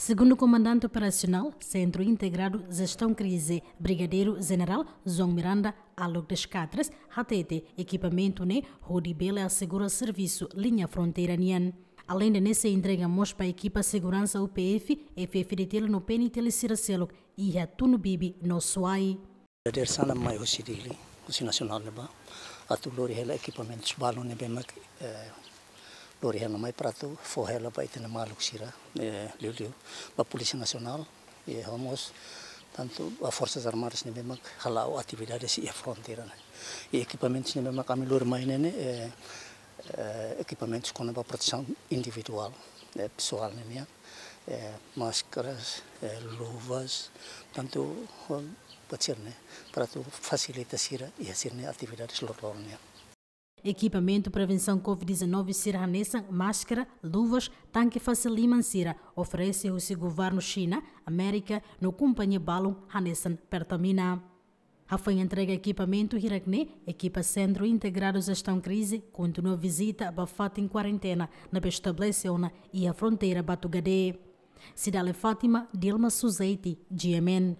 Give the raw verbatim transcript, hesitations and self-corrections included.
Segundu Komandante Operasionál Sentru Integradu Jestaun Krize, Brigadeiru Jenerál João Miranda Alok das Catras, hatete ekipamentu ne'e hodi bele asegura servisu liña fronteira nian. Aleinde ne'e sei entrega mós ba ekipa seguransa U P F, F F D T L no P N T L sira seluk iha Tunubibi no Suai. Hadeer hanesan mai husi Dili, husi nasionál ne'ebá, atu lori hela ekipamentus balun ne'ebé mak, eh, lori hela mai para atu fó hela ba ita-nia maluk sira, eh, liuliu ba Polísia Nasionál, i ho mós tantu ba Forsas Armadas ne'ebé mak hala'o atividades iha fronteira ne'e. I ekipamentus ne'ebé mak ami lori mai ne'e ne'e, eh, eh, ekipamentus kona-ba protesaun individuál, eh, pesoál ne'e nian, eh, máskaras, eh, luvas, tantu, eh, buat sira-ne'e, para atu fasilita sira iha sira-nia atividades loroloron nian. Ekipamentu prevensaun covid dezanove sira hanesan máskara, luvas, tanke fase liman sira oferese husi governu Xina, Amérika no kompañia balun hanesan Pertamina. Hafoin entrega ekipamentu hirak-ne'e, ekipa Sentru Integradu Jestaun Krize kontinua vizita ba fatin kuarentena ne'ebé estabelese ona iha fronteira Batugade. Cidália Fátima, Dilma Suzeiti, G M N.